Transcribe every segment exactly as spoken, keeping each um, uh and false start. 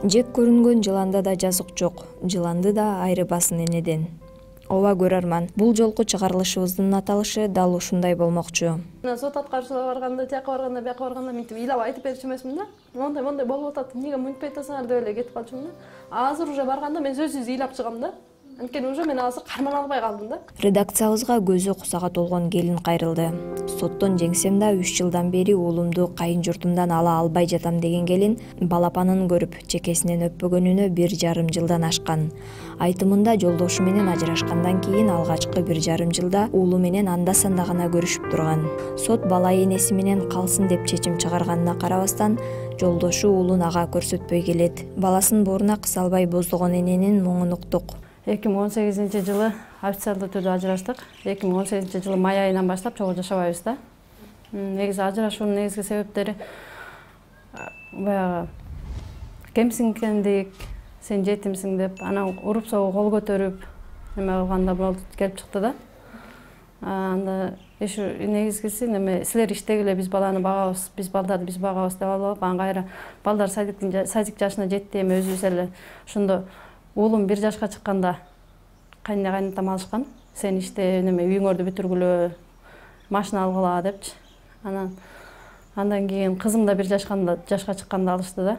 Жек көрүнгөн жыланда да жазык жок, жыланды да айрыбасын энеден. Ооба көрөрман, бул жолку чыгарылышыбыздын аталышы дал ушундай болмокчу. Сот аткаруучуларга барганда, тияка барганда, бияка барганда мынтип ыйлап айтып берчү эмесмин да. Мондай мондай болуп атат, эмнеге мынтпай атасыңар деп эле кетип калчумун да. Азыр уже барганда мен сөзсүз ыйлап чыгам да. Анткени уже мен азыр карман албай калдым да. Редакциябызга көзү кусага толгон келин кайрылды. Соттон жеңсем да үч жылдан бери уулумду кайын журтумдан ала албай жатам деген келин балапанын көрүп чекесинен өппөгөнүнө бир жарым жылдан ашкан. Айтымында жолдошу менен ажырашкандан кийин алгачкы бир жарым жылда уулу менен анда санда гана көрүшүп турган. Сот бала энеси менен калсын деп чечим чыгарганына карабастан, жолдошу уулун ага көрсөтпөй келет. Баласын бооруна кыса албай боздогон эненин муңун уктук. эки миң он сегизинчи жылы официалдуу түрдө ажыраштык. эки миң он сегизинчи жылы май айынан баштап чогуу жашабайбыз да. Негизи ажырашуунун негизги себептери баягы кемсингендик, сен жетимсиң деп, анан уруп согуп кол көтөрүп неме кылганда болуп келип чыкты да. Анда эш негизгиси неме силер иштегиле, биз баланы багабыз, биз балдарды биз багабыз деп алып, анан кайра балдар садиктин садик жашына жетти, эми өзүбүз эле ошондо уулум бир жашка чыкканда кайнына кайнатам алышкан. Сен иште неме үйүңөрдү бүтүргүлө, машина алгыла депчи. Анан андан кийин кызым да бир жашканда жашка чыкканда алышты да.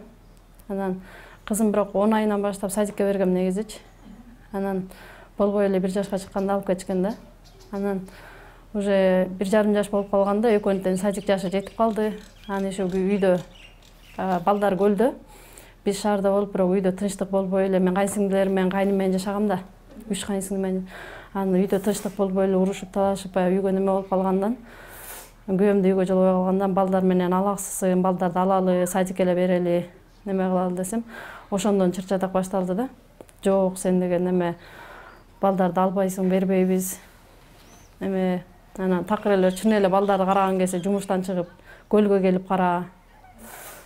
Анан кызым бирок он айынан баштап садикке бергем негизичи. Анан болбой эле бир жашка чыкканда алып кетишкен да. Анан уже бир жарым жаш болуп калганда экөөнүн тең садик жашы жетип калды. Анан ошо үйдө балдар көлдө. Биз шаарда болуп, бирок үйдө тынчтык болбой эле, мен кайынсиңдилерим менен кайным менен жашагам да. Үч кайынсиңдим менен. Анан үйдө тынчтык болбой эле, урушуп талашып, баягы үйгө неме болуп калгандан, күйөөм да үйгө жолбой калгандан балдар менен алаксысын, балдарды алалы, садикке эле берели, неме кылалы десем, ошондон чыр-чатак башталды да. Жок, сен деген неме балдарды албайсың, бербейбиз. Эме анан такыр эле чын эле балдарды караган кезде жумуштан чыгып, көлгө келип кара.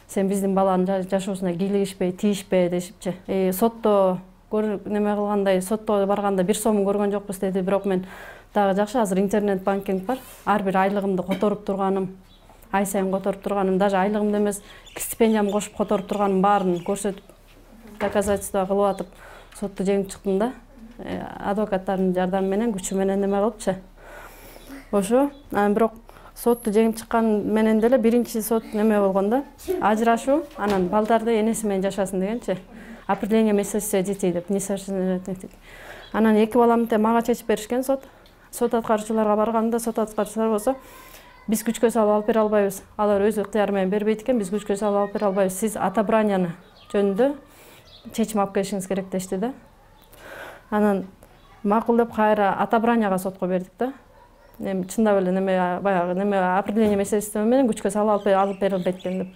Сен биздин баланын жашоосуна кийлигишпей, тийишпе дешипчи. Э сотто неме кылгандай, сотто барганда бир сомун көргөн жокпуз деди, бирок мен дагы жакшы азыр интернет банкинг бар. Ар бир айлыгымды которуп турганым, ай сайын которуп турганым, даже айлыгымды эмес, стипендиямды кошуп которуп турганым баарын көрсөтүп, доказательство кылып атып, сотто жеңип чыктым да. Адвокаттардын жардамы менен, күчү менен неме кылыпчы. Ошо, анан бирок сотту жеңип чыккан менен деле биринчи сот неме болгон да. Ажырашуу, анан балдарды энеси менен жашасын дегенчи. Определение месячных детей деп, несовершеннолетних детей. Анан эки баламды тең мага чечип беришкен сот. Сот аткаруучуларга барганда, сот аткаруучулар болсо, биз күчкө салып алып бере албайбыз. Алар өз ыктыяры менен бербейт экен, биз күчкө салып алып бере албайбыз. Сиз отобранияны жөнүндө чечим алып келишиңиз керек дешти да. Анан макул деп кайра отобранияга сотко бердик да. Эми чындап эле неме баягы неме определение месячества менен күчкө салып алып берилбейт экен деп.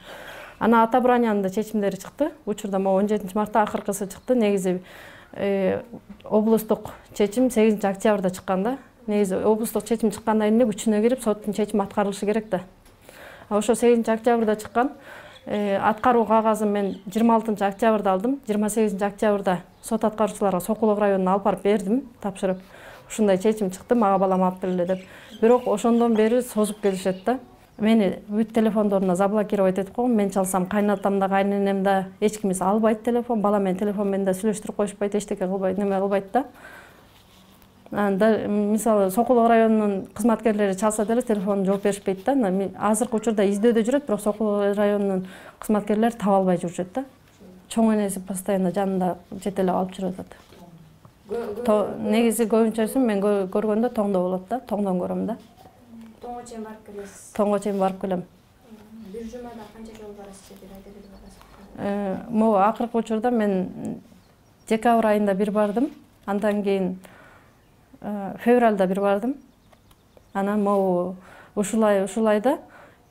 Анан отобраниянын да чечимдери чыкты. Учурда могу он жетинчи мартта акыркысы чыкты. Негизи облустук чечим сегизинчи октябрда чыккан да. Негизи облустук чечим чыккандан кийин күчүнө кирип, соттун чечими аткарылышы керек да. Ошо сегизинчи октябрда чыккан. Аткаруу кагазын мен жыйырма алтынчы октябрда алдым. жыйырма сегизинчи октябрда сот аткаруучуларга Сокулук районуна алып барып бердим, тапшырып. Ушундай чечим чыкты, мага балам алып келе деп. Бирок ошондон бери созуп келишет да. Мени бүт телефондоруна заблокировать этип койгон. Мен чалсам кайнатам да, кайненем да эч кимис албайт телефон. Бала менен телефон менен да сүйлөштүрүп коюшпайт, эчтеке кылбайт, неме кылбайт да. Анда мисалы Сокулук районунун кызматкерлери чалса деле телефонун жооп беришпейт да. Азыркы учурда издөөдө жүрөт, бирок Сокулук районунун кызматкерлери таба албай жүрүшөт да. Чоң энеси постоянно жанында жетелеп алып жүрүп атат. Негизи көбүнчөсүн мен көргөндө тоңдо болот да, тоңдон көрөм да. Тоңго чейин барып келесиз? Тоңго чейин барып келем. Бир жумада канча жолу барасыз же, бир айда бир барасыз? Могу акыркы учурда мен декабрь айында бир бардым, андан кийин февралда бир бардым. Анан могу ушулай ушул айда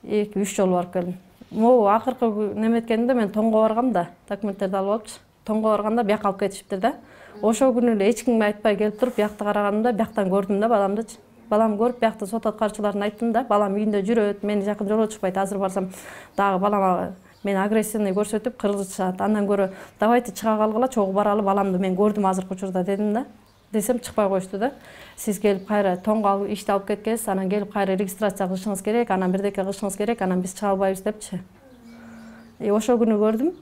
эки үч жолу барып келдим. Могу акыркы неметкенде мен тоңго баргам да, документтерди алып алыпчы. Тоңго барганда бияка алып кетишиптир да. Ошол күнү эле эч кимге айтпай келип туруп, биякты караганымда бияктан көрдүм да баламдычы. Балам көрүп, биякты сот аткаруучуларына айттым да, балам үйүндө жүрөт, мени жакын жолотушпайт, азыр барсам дагы балама мен агрессивный көрсөтүп кыргызышат. Андан көрө давайте чыга калгыла, чогуу баралы, баламды мен көрдүм азыркы учурда дедим да. Десем чыкпай коюшту да. Сиз келип кайра тоңго ишти алып кеткенсиз, анан келип кайра регистрация кылышыңыз керек, анан бирдеке кылышыңыз керек, анан биз чыга албайбыз депчи. Ошол күнү көрдүм.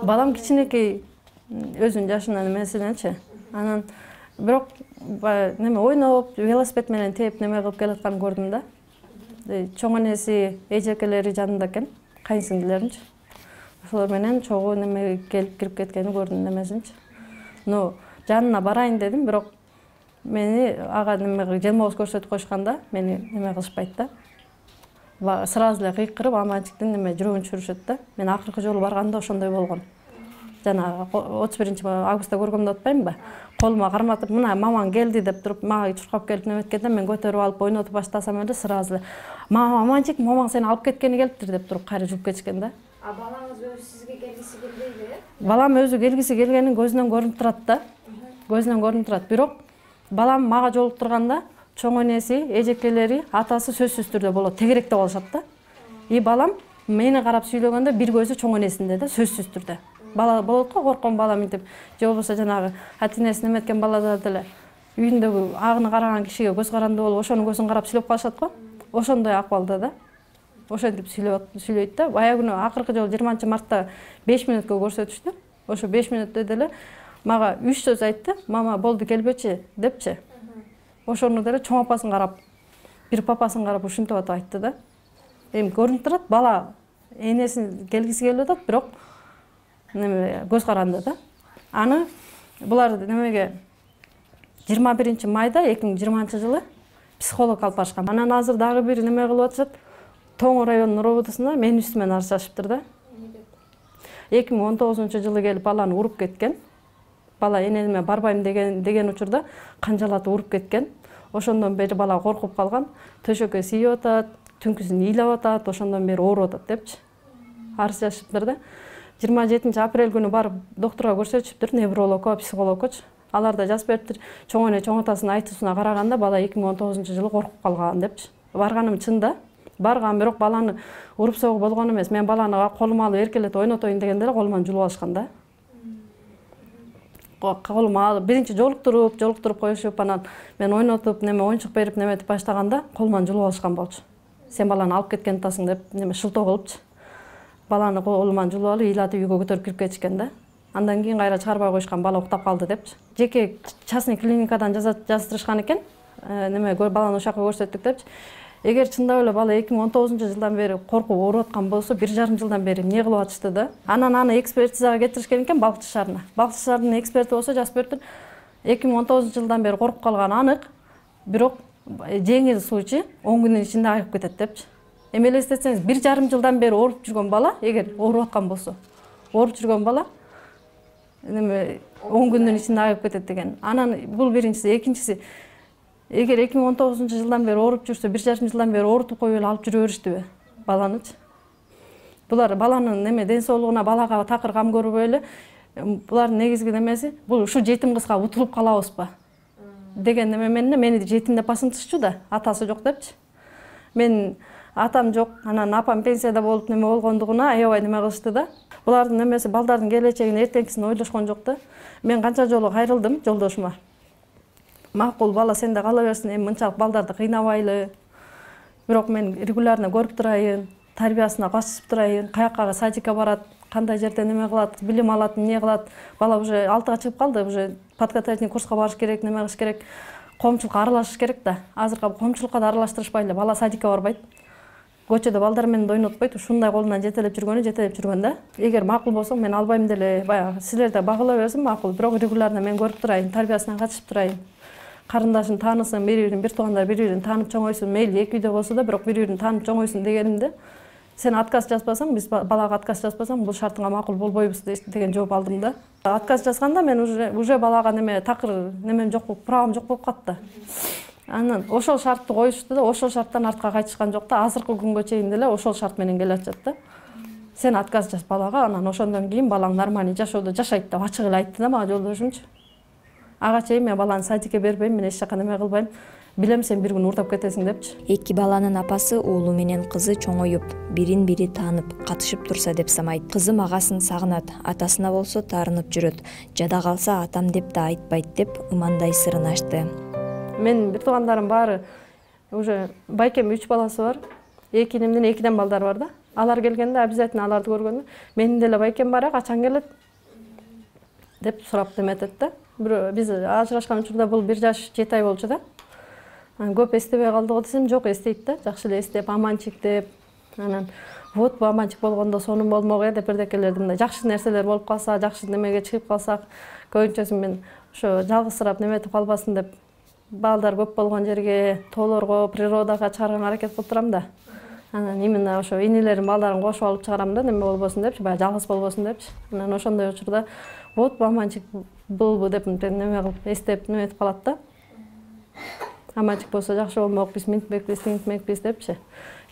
балам кичинекей өзүнүн жашынан эмесиненчи. Анан бирок неме ойноп, велосипед менен тээп неме кылып келатканын көрдүм да. Чоң энеси, эжекелери жанында экен, кайынсиңдилеринчи. Ошолор менен чогуу неме келип кирип кеткенин көрдүм немесинчи. Ну, жанына барайын дедим, бирок мени ага неме желмоос көрсөтүп койшканда, мени неме кылышпайт да. Сразу эле кыйкырып, аманчиктин неме жүрөгүн түшүрүшөт да. Мен акыркы жолу барганда ошондой болгон. Жана отуз биринчи августта көргөмдү атпаймынбы? Колума карматып, мына мамаң келди деп туруп, мага чуркап келип неметкенде мен көтөрүп алып ойнотуп баштасам эле сразу эле мама, аманчик, мамаң сени алып кеткени келиптир деп туруп кайра жүрүп кетишкен да. А балаңыз өзү сизге келгиси келбейби? Балам өзү келгиси келгенин көзүнөн көрүнүп турат да. Көзүнөн көрүнүп турат. Бирок балам мага жолуктурганда чоң энеси, эжекелери, атасы сөзсүз түрдө болот, тегеректе болушат да. И балам мени карап сүйлөгөндө бир көзү чоң энесинде да, сөзсүз түрдө. Бала болот го, корккон бала мынтип, же болбосо жанагы атинеси неметкен балалар деле үйүндөгү агыны караган кишиге көз каранды болуп, ошонун көзүн карап сүйлөп калышат го. Ошондой акыбалда да. Ошентип сүйлөйт да. Бая күнү акыркы жолу жыйырманчы мартта беш мүнөткө көрсөтүштү. Ошо беш мүнөттө деле мага үч сөз айтты. Мама, болду келбечи депчи. Ошону деле чоң апасын карап, бир папасын карап ушинтип атып айтты да. Эми көрүнүп турат, бала энесин келгиси келип атат, бирок неме көз каранды да. Аны булар немеге жыйырма биринчи майда эки миң жыйырманчы жылы психолог алып барышкан. Анан азыр дагы бир неме кылып атышат. Тоң районунун роботусунда мен үстүмөн арызчашыптыр да. эки миң он тогузунчу жылы келип баланы уруп кеткен. Бала энеме барбайм деген деген учурда канжалатып уруп кеткен. Ошондон бери бала коркуп калган. Төшөккө тийип атат, түнкүсүн ыйлап атат, ошондон бери ооруп атат депчи. Арыз жазышыптыр да. жыйырма жетинчи апрель күнү барып доктурга көрсөтүшүптүр, неврологко, психологкочу. Алар да жазып бериптир. Чоң эне чоң атасынын айтуусуна караганда бала эки миң он тогузунчу жылы коркуп калган депчи. Барганым чын да. Барган, бирок баланы уруп согуп болгон эмес. Мен баланы колума алып эркелетип ойнотоюн дегенде эле колуман жулуп алышкан да. Колума алып биринчи жолуктуруп, жолуктуруп коюшуп, анан мен ойнотуп, неме оюнчук берип неметип баштаганда колуман жулуп алышкан болчу. Сен баланы алып кеткен атасың деп неме шылтоо кылыпчы. Баланы колуман жулуп алып, ыйлатып үйгө көтөрүп кирип кетишкен да. Андан кийин кайра чыгарбай коюшкан, бала уктап калды депчи. Жеке частный клиникадан жаздырышкан экен. Неме баланы ошол жака көрсөттүк депчи. Эгер чындап эле бала эки миң он тогузунчу жылдан бери коркуп ооруп аткан болсо, бир жарым жылдан бери эмне кылып атышты да? Анан аны экспертизага кетиришкен экен Балыкчы шаарына. Балыкчы шаарынын эксперти болсо жазып бериптир. эки миң он тогузунчу жылдан бери коркуп калганы анык, бирок жеңил случай он күнүн ичинде айыгып кетет депчи. Эми элестетсеңиз, бир жарым жылдан бери ооруп жүргөн бала, эгер ооруп аткан болсо, ооруп жүргөн бала неме он күндүн ичинде айыгып кетет деген. Анан бул биринчиси, экинчиси, эгер эки миң он тогузунчу жылдан бери ооруп жүрсө, бир жарым жылдан бери оорутуп коюп эле алып жүрө бериштиби баланычы? Булар баланын неме ден соолугуна, балага такыр кам көрбөй эле, булардын негизги немеси, бул ушу жетим кызга утулуп калабызбы деген неме менен мени жетим деп басынтышчу да, атасы жок депчи. Мен атам жок, анан апам пенсияда болуп неме болгондугуна аябай неме кылышты да. Булардын немеси балдардын келечегин, эртеңкисин ойлошкон жок да. Мен канча жолу кайрылдым жолдошума. Макул бала сенде кала берсин, эми мынчалык балдарды кыйнабайлы. Бирок мен регулярно көрүп турайын, тарбиясына катышып турайын, каяка садикке барат, кандай жерде неме кылат, билим алат, эмне кылат. Бала уже алтыга чыгып калды, уже подготовительный курска барыш керек, неме кылыш керек, коомчулукка аралашыш керек да. Азыркы коомчулукка да аралаштырышпай эле, бала садикке барбайт. Көчөдө балдар менен ойнотпойт, ушундай колунан жетелеп жүргөнү жетелеп жүргөн да. Эгер макул болсоң, мен албайм деле, баягы силер да багыла берсин, макул, бирок регулярно мен көрүп турайын, тарбиясына катышып турайын. Карындашын таанысын, бири-бирин, бир туугандар бири-бирин таанып чоңойсун, мейли эки үйдө болсо да, бирок бири-бирин таанып чоңойсун дегенимде, сен отказ жазбасаң, биз балага отказ жазбасаң, бул шартыңа макул болбойбуз деген жооп алдым да. Отказ жазганда мен уже уже балага неме такыр немем жок, правам жок болуп катты. Анан ошол шартты коюшту да, ошол шарттан артка кайтышкан жок да. Азыркы күнгө чейин деле ошол шарт менен келатышат да. Сен отказ жаз балага, анан ошондон кийин балаң нормальный жашоодо жашайт деп ачык эле айтты да мага жолдошумчу. Ага чейин мен баланы садикке бербейм, мен эч жака неме кылбайм. Билем сен бир күн уурдап кетесиң депчи. Эки баланын апасы уулу менен кызы чоңоюп, бирин-бири таанып, катышып турса деп самайт. Кызым агасын сагынат, атасына болсо таарынып жүрөт. Жада калса атам деп да айтпайт деп ымандай сырын ачты. Мен бир туугандарым баары уже байкем үч баласы бар. Эки инимдин экиден балдары бар да. Алар келгенде обязательно аларды көргөндө менин деле байкем бар, качан келет деп сурап неметет да. Бирөө биз ажырашкан учурда бул бир жаш жети ай болчу да. Көп эстебей калдыгы десем, жок, эстейт да. Жакшы эле эстеп, аманчик деп, анан вот бу аманчик болгондо сонун болмок э деп бирдекелерди мындай жакшы нерселер болуп калса, жакшы немеге чыгып калсак, көбүнчөсүн мен ошо жалгызсырап неметип калбасын деп балдар көп болгон жерге, тоолорго, природага чыгарганга аракет кылып турам да. Анан именно ошо инелерим балдарын кошуп алып чыгарам да, неме болбосун депчи, баягы жалгыз болбосун депчи. Анан ошондой учурда вот бу аманчик болбу деп неме кылып эстеп неметип калат да. Аманчик болсо жакшы болмок, биз минтмекпиз, тинтмекпиз депчи.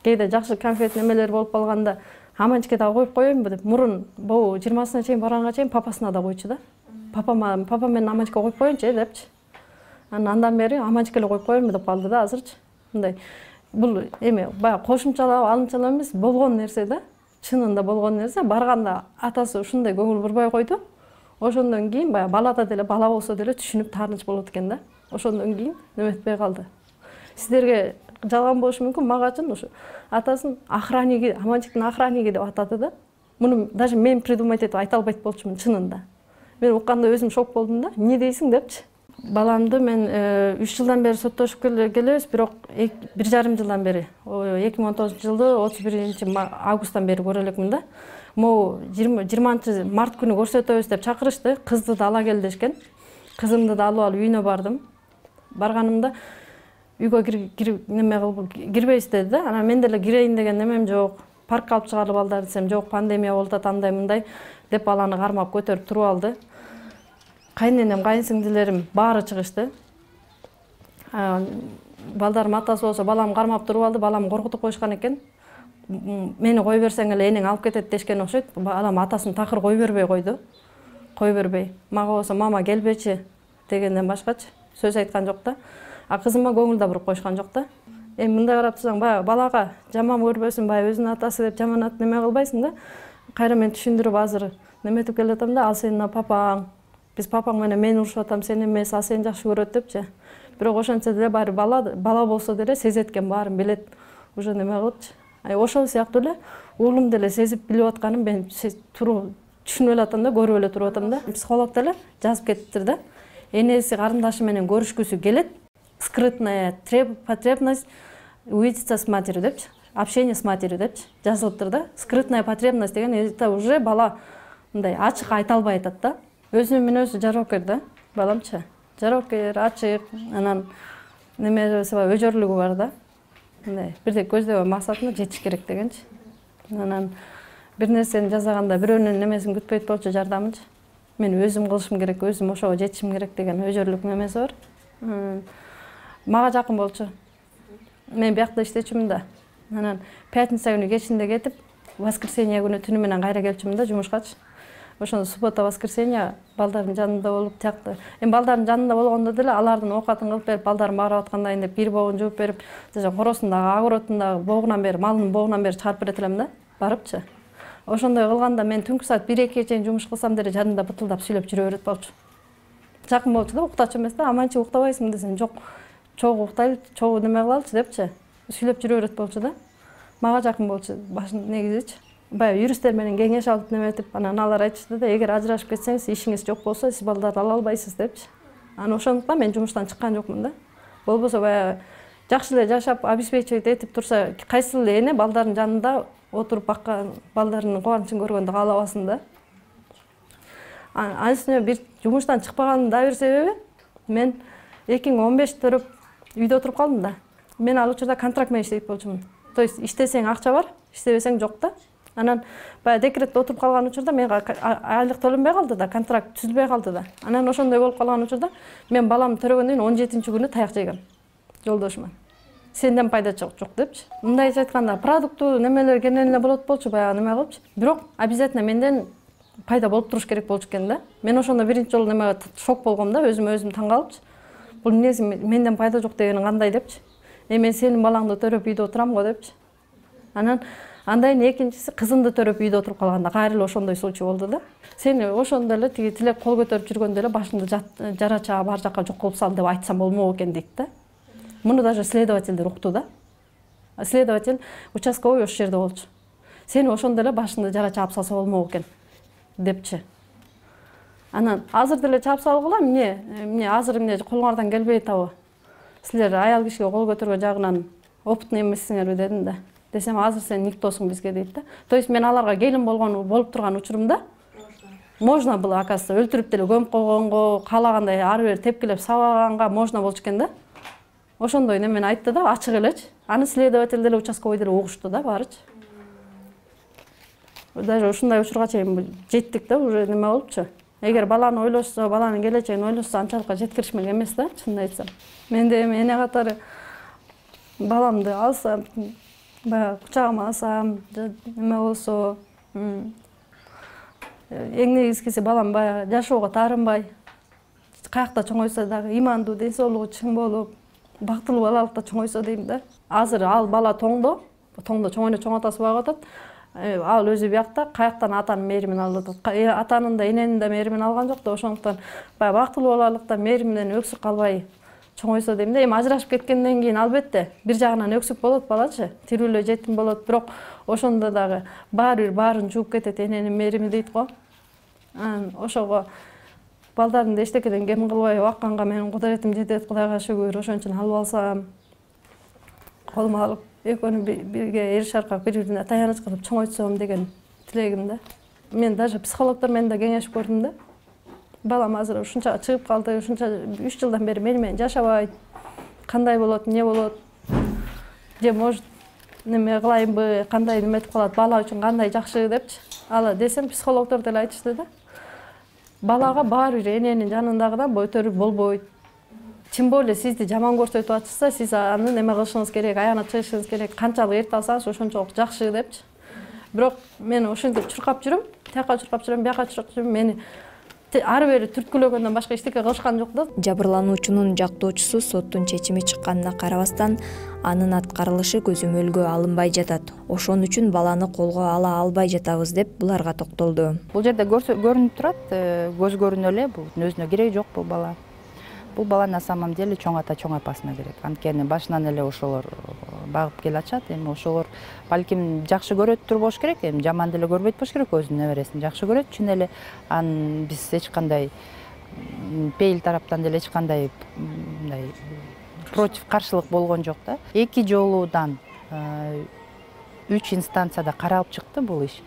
Кээде жакшы конфет немелер болуп калганда аманчикке дагы коюп коеюнбу деп мурун бул жыйырмасына чейин барганга чейин папасына да койчу да. Папама, папа менен аманчикке коюп коеюнчу э депчи. Анан андан бери аманчикке эле коюп коеюнбу деп калды да азырчы. Мындай бул эме баягы кошумчалап, алынчалап эмес, болгон нерсе да. Чынында болгон нерсе. Барганда атасы ушундай көңүл бурбай койду. Ошондон кийин баягы балада деле, бала болсо деле түшүнүп тааныч болот экен да. Ошондон кийин неметпей калды. Сиздерге жалган болушу мүмкүн, магачын ушу атасын охранниги, аманчиктин охранниги деп атады да. Муну даже мен придумать этип айта албайт болчумун чынында. Мен укканда өзүм шок болдум да. Эмне дейсиң депчи. Баламды мен үч жылдан бери соттошуп келебиз, бирок бир жарым жылдан бери, эки миң он тогузунчу жылды отуз биринчи августтан бери көрө элекмин да. Могу жыйырманчы март күнү көрсөтөбүз деп чакырышты. Кызды да ала кел дешкен. Кызымды да алып алып үйүнө бардым. Барганымда үйгө кирип неме кылып кирбейсиз деди да. Анан мен деле кирейин деген немем жок. Паркка алып чыгалы балдар десем, жок, пандемия болуп атат, андай мындай деп баланы кармап көтөрүп туруп алды. Кайненем, кайынсиңдилерим баары чыгышты. Балдарым атасы болсо балам кармап туруп алды, балам коркутуп коюшкан экен. Мени кой берсең эле энең алып кетет дешкен окшойт. Балам атасын такыр кой бербей койду. Кой бербей. Мага болсо мама келбечи дегенден башкачы сөз айткан жок да. А кызыма көңүл да буруп коюшкан жок да. Эми мындай карап турсаң, баягы балага жаман көрбөсүн, баягы өзүнүн атасы деп жаманат неме кылбайсың да. Кайра мен түшүндүрүп азыр неметип келатам да, ал сенин папаң. Биз папаң менен мен урушуп атам, сен эмес, ал сени жакшы көрөт депчи. Бирок ошентсе деле баары бала, бала болсо деле сезет экен, баарын билет. Уже неме кылыпчы. Ай ошол сыяктуу эле уулум деле сезип билип атканын мен туруп түшүнүп эле атам да, көрүп эле туруп атам да. Психолог деле жазып кетиптир да. Энеси карындашы менен көрүшкүсү келет. Скрытная потребность увидеться с матерью депчи. Общение с матерью депчи. Жазылыптыр да. Скрытная потребность деген это уже бала мындай ачык айта албай атат да. Өзүнүн мүнөзү жарокер да, баламчы. Жарокер, ачык, анан немеси бар, өжөрлүгү бар да. Мындай бирдей көздөбөй максатына жетиш керек дегенчи. Анан бир нерсени жасаганда бирөөнүн немесин күтпөйт болчу, жардамынчы. Мен өзүм кылышым керек, өзүм ошого жетишим керек деген өжөрлүк немеси бар. Мага жакын болчу. Мен биякта иштечүмүн да. Анан пятница күнү кечинде кетип, воскресенье күнү түнү менен кайра келчүмүн да жумушкачы. Ошондо суббота, воскресенье балдардын жанында болуп, тиякты. Эми балдардын жанында болгондо деле алардын оокатын кылып берип, балдарым аарып аткандайын деп бир богун жууп берип, коросун дагы, агоротун дагы богунан бери, малынын богунан бери чыгарып берет элем да, барыпчы. Ошондой кылганда мен түнкү саат бир экиге чейин жумуш кылсам деле жанында бытылдап сүйлөп жүрө берет болчу. Жакын болчу да, уктачу эмес да, аманчы уктабайсыңбы десем, жок, чогуу уктайлы, чогуу неме кылалычы депчи. Сүйлөп жүрө берет болчу да. Мага жакын болчу башын негизичи. Баягы юристтер менен кеңеш алып неметип, анан алар айтышты да, эгер ажырашып кетсеңиз, ишиңиз жок болсо, сиз балдарды ала албайсыз депчи. Анан ошондуктан мен жумуштан чыккан жокмун да. Болбосо баягы жакшы эле жашап, обеспечивать этип турса, кайсыл эле эне балдардын жанында отуруп баккан, балдарынын кубанычын көргөндү каалабасын да. Анын үстүнө бир жумуштан чыкпаганымдын да бир себеби, мен эки миң он беш төрөп үйдө отуруп калдым да. Мен ал учурда контракт менен иштейт болчумун. То есть иштесең акча бар, иштебесең жок да. Анан баягы декретте отуруп калган учурда менга айлык төлөнбөй калды да, контракт түзүлбөй калды да. Анан ошондой болуп калган учурда мен баламды төрөгөндөн кийин он жетинчи күнү таяк жегем жолдошума. Сенден пайда жок депчи. Мындайча айтканда, продуктуу немелер кенен эле болот болчу, баягы неме кылыпчы. Бирок обязательно менден пайда болуп туруш керек болчу экен да. Мен ошондо биринчи жолу неме шок болгом да, өзүм өзүм таң калыпчы. Бул эмнеси менден пайда жок дегени кандай депчи. Эми мен сенин балаңды төрөп үйдө отурам го депчи. Анан андайын экинчиси кызымды төрөп үйдө отуруп калганда кайра эле ошондой случай болду да. Сени ошондо эле тиги тилек кол көтөрүп жүргөндө эле башыңды жарача бар жакка жок кылып сал деп айтсам болмок экен дейт да. Муну даже следовательдер укту да. Следователь участковый ошол жерде болчу. сени ошондо эле башыңды жара чаап салса болмок экен депчи. Анан азыр деле чаап салгыла, эмне, эмне азыр эмне колуңардан келбей атабы? Силер аял кишиге кол көтөргөн жагынан опытный эмессиңерби дедим да. Десем, азыр сен никтосуң бизге дейт да. То есть мен аларга келин болгон болуп турган учурумда можно было, оказывается, өлтүрүп деле көмүп койгонго, каалагандай ары бери тепкилеп сабаганга можно болчу экен да. Ошондой немени айтты да, ачык элечи. Аны следователь деле участковый деле угушту да, баарычы. Даже ушундай учурга чейин жеттик да, уже неме болупчу. Эгер баланы ойлошсо, баланын келечегин ойлошсо, анчалык жеткиришмек эмес да, чынын айтсам. Мен де эне катары баламды алсам, баягы кучагыма алсам, неме болсо, эң негизгиси балам баягы жашоого таарынбай, каякта чоңойсо дагы имандуу, ден соолугу чың болуп, бактылуу балалыкта чоңойсо дейм да. Азыр ал бала тоңдо, тоңдо чоңойно чоң атасы багып атат. Ал өзү биякта каяктан атанын мээримин алып атат. Атанын да эненин да мээримин алган жок да, ошондуктан баягы бактылуу балалыкта мээримден өксүк калбай чоңойсо дейм да. Эми ажырашып кеткенден кийин албетте бир жагынан өксүк болот балачы, тирүүлөө жетим болот, бирок ошондо дагы баары бир баарын жууп кетет эненин мээрими дейт го. Ошого балдарды эчтекеден кем кылбай бакканга менин кудуретим жетет, Кудайга шүгүр. Ошон үчүн алып алсам, колума алып экөөнү бирге эриш аркап бири-бирине таяныч кылып чоңойтсом деген тилегим да. Мен даже психологдор менен да кеңешип көрдүм да. Балам азыр ушунча чыгып калды, ушунча үч жылдан бери мени менен жашабайт. Кандай болот, эмне болот? Же может неме кылайынбы, кандай неметип калат, бала үчүн кандай жакшы депчи. Ала десем, психологдор деле айтышты да. Балага баары бир эненин жанындагыдан өтөрүп болбойт. Тем более сизди жаман көрсөтүп атышса, сиз аны неме кылышыңыз керек, аягына чыгышыңыз керек. Канчалык эрте алсаңыз ошончолук жакшы депчи. Бирок мен ошентип чуркап жүрөм, тияка чуркап жүрөм, бияка чуркап жүрөм. Мени ары бери түрткүлөгөндөн башка эчтеке кылышкан жок да. Жабырлануучунун жактоочусу соттун чечими чыкканына карабастан, анын аткарылышы көзөмөлгө алынбай жатат. Ошон үчүн баланы колго ала албай жатабыз деп буларга токтолду. Бул жерде көрүнүп турат, көз көрүнө эле, бул өзүнө кереги жок бул бала. Бул бала на самом деле чоң ата чоң апасына керек. Анткени башынан эле ошолор багып келе атышат. Эми ошолор балким жакшы көрөт тур болуш керек, эми жаман деле көрбөйт болуш керек, өзүнүн небересин жакшы көрөт. Чын эле анын биз эч кандай пейил тараптан деле эч кандай мындай против каршылык болгон жок да. Эки жолудан үч инстанцияда каралып чыкты бул иш.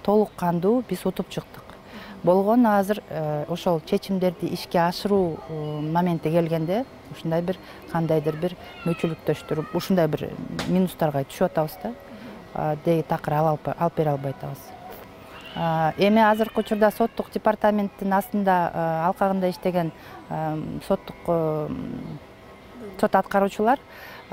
Толук кандуу биз утуп чыктык. Болгон азыр ошол чечимдерди ишке ашыруу моменти келгенде ушундай бир кандайдыр бир мөчүлүктөштүр, ушундай бир минустарга түшүп атабыз да. Деги такыр алып бере албай атабыз. Эми азыркы учурда соттук департаменттин астында алкагында иштеген соттук сот аткаруучулар,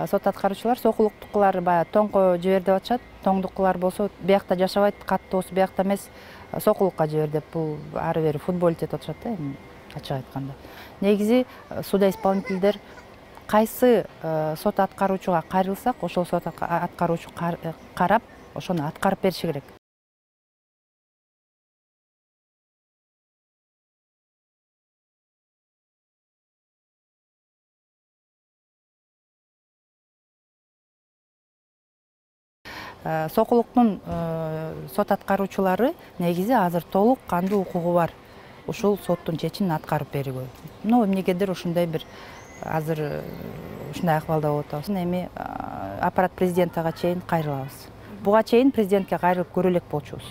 сот аткаруучулар сокулуктукулар баягы тоңко жибер деп атышат. Тоңдукулар болсо биякта жашабайт, каттоосу биякта эмес, сокулукка жибер деп бул ары бери футболить этип атышат да, эми ачык айтканда. Негизи судоисполнительдер кайсы сот аткаруучуга кайрылсак, ошол сот аткаруучу карап, ошону аткарып бериши керек. Сокулуктун сот аткаруучулары негизи азыр толук кандуу укугу бар ушул соттун чечимин аткарып берүүгө. Но эмнегедир ушундай бир азыр ушундай акыбалда болуп атабыз. Эми аппарат президентага чейин кайрылабыз. Буга чейин президентке кайрылып көрө элек болчубуз.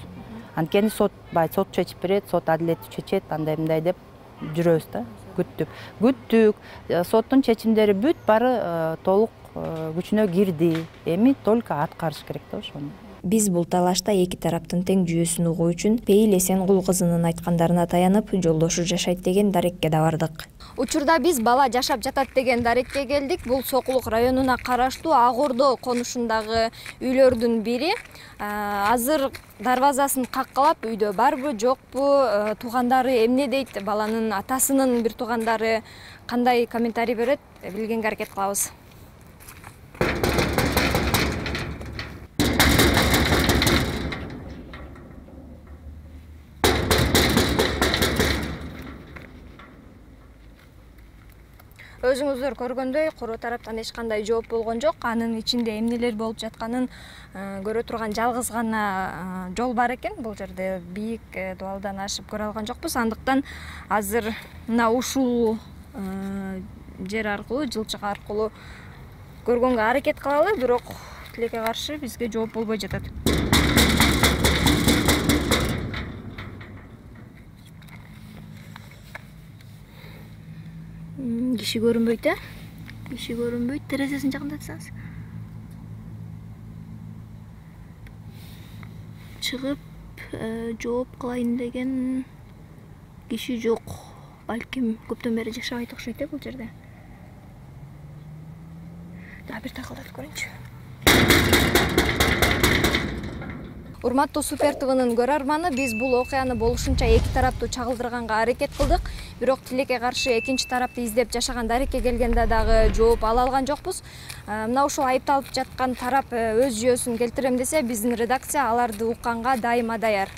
Анткени сот бай сот чечип берет, сот адилеттүү чечет, андай мындай деп жүрөбүз да, күттүк. Күттүк, соттун чечимдери бүт бары толук күчүнө кирди. Эми только аткарыш керек да ошону. Биз бул талашта эки тараптын тең жүйөсүн угуу үчүн Пейил Эсенгул кызынын айткандарына таянып, жолдошу жашайт деген дарекке да бардык. Учурда биз бала жашап жатат деген дарекке келдик. Бул Сокулук районуна караштуу Ак Ордо конушундагы үйлөрдүн бири. Азыр дарбазасын каккалап үйдө барбы, жокпу, туугандары эмне дейт, баланын атасынын бир туугандары кандай комментарий берет, билгенге аракет кылабыз. өзүңүздөр көргөндөй куру тараптан эч кандай жооп болгон жок. Анын ичинде эмнелер болуп жатканын көрө турган жалгыз гана жол бар экен. Бул жерде бийик дубалдан ашып көрө алган жокпуз. Андыктан азыр мына ушул жер аркылуу, жылчык аркылуу көргөнгө аракет кылалы, бирок тилекке каршы бизге жооп болбой жатат. Киши көрүнбөйт, э? Киши көрүнбөйт. Терезесин жакындатсаңыз. Чыгып, жооп кылайын деген киши жок. Балким көптөн бери жашабайт окшойт, э, бул жерде. Да, бир такылдатып көрөйүнчү. Урматтуу Супер ТВнын көрөрманы, биз бул окуяны болушунча эки тараптуу чагылдырганга аракет кылдык. Бирок тилекке каршы экинчи тарапты издеп жашаган дарекке келгенде дагы жооп ала алган жокпуз. Мына ушул айыпталып жаткан тарап өз жүйөсүн келтирем десе, биздин редакция аларды укканга дайыма даяр.